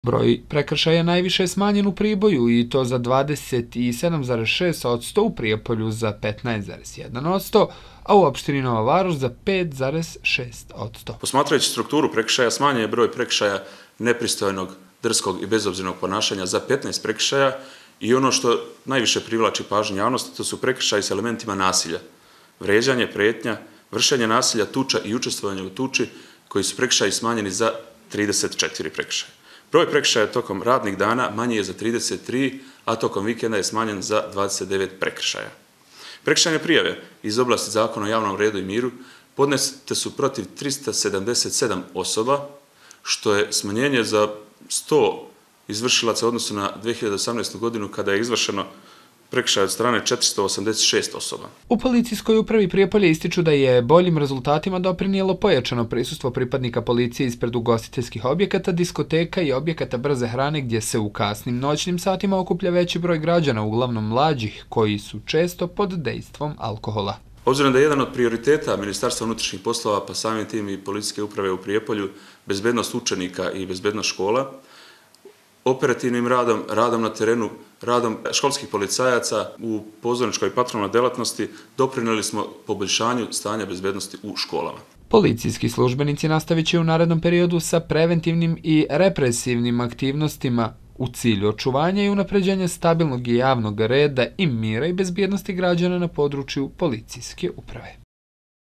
Broj prekršaja najviše je smanjen u Priboju i to za 27,6%, u Prijepolju za 15,1%, a u opštini Nova Varoš za 5,6%. Posmatrajući strukturu prekršaja, smanjen je broj prekršaja nepristojnog, drskog i bezobzirnog ponašanja za 15 prekršaja i ono što najviše privlači pažnju javnosti, to su prekršaji s elementima nasilja. Vređanje, pretnja, vršenje nasilja, tuča i učestvovanje u tuči, koji su prekršaji smanjeni za 34 prekršaja. Broj prekršaja tokom radnih dana manji je za 33, a tokom vikenda je smanjen za 29 prekršaja. Prekršajne prijave iz oblasti Zakona o javnom redu i miru podnete su protiv 377 osoba, što je smanjenje za 100 izvršilaca u odnosu na 2018. godinu kada je izvršeno prekršaj od strane 486 osoba. U policijskoj upravi Prijepolje ističu da je boljim rezultatima doprinijelo pojačano prisustvo pripadnika policije ispred ugostiteljskih objekata, diskoteka i objekata brze hrane gdje se u kasnim noćnim satima okuplja veći broj građana, uglavnom mlađih, koji su često pod dejstvom alkohola. Obzirom da je jedan od prioriteta Ministarstva unutrašnjih poslova, pa samim tim i policijske uprave u Prijepolju, bezbednost učenika i bezbednost škola, operativnim radom, radom na terenu, radom školskih policajaca u pozorničkoj i patrolnoj delatnosti doprinijeli smo poboljšanju stanja bezbednosti u školama. Policijski službenici nastavit će u narednom periodu sa preventivnim i represivnim aktivnostima u cilju očuvanja i unapređenja stabilnog i javnog reda i mira i bezbjednosti građana na području policijske uprave.